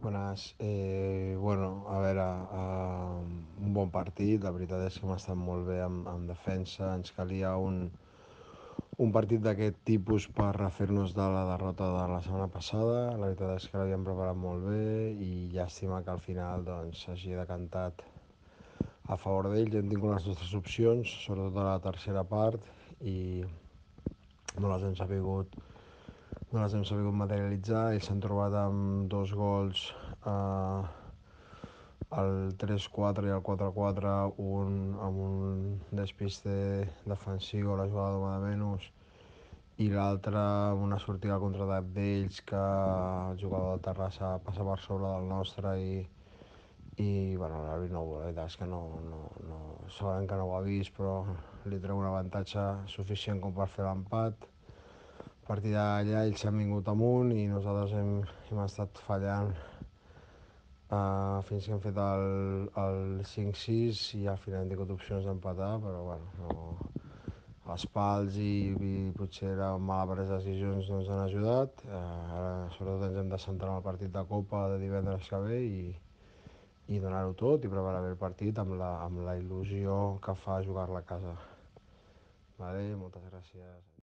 Bones. Bueno, a veure, un bon partit. La veritat és que hem estat molt bé amb defensa. Ens calia un partit d'aquest tipus per refer-nos de la derrota de la setmana passada. La veritat és que l'havíem preparat molt bé i llàstima que al final doncs, s'hagi decantat a favor d'ells. Hem tingut les nostres opcions, sobretot a la tercera part, i no les hem sabut materialitzar. Ells s'han trobat amb dos gols, el 3-4 i el 4-4, un amb un despiste defensiu a la jugada d'home de menys i l'altre amb una sortida al contraatac d'ells que el jugador del Terrassa passa per sobre del nostre i bueno, l'àrbit no, la veritat és que no, segurament que no ho ha vist, però li treu un avantatge suficient com per fer l'empat. A partir d'allà ells s'han vingut amunt i nosaltres hem estat fallant fins que hem fet el 5-6 i al final hem tingut opcions d'empatar, però bueno, els pals i potser la mala presa de decisions no ens han ajudat. Ara sobretot ens hem de centrar en el partit de Copa de divendres que ve i donar-ho tot i preparar bé el partit amb la il·lusió que fa jugar-la a casa. Vale, moltes gràcies.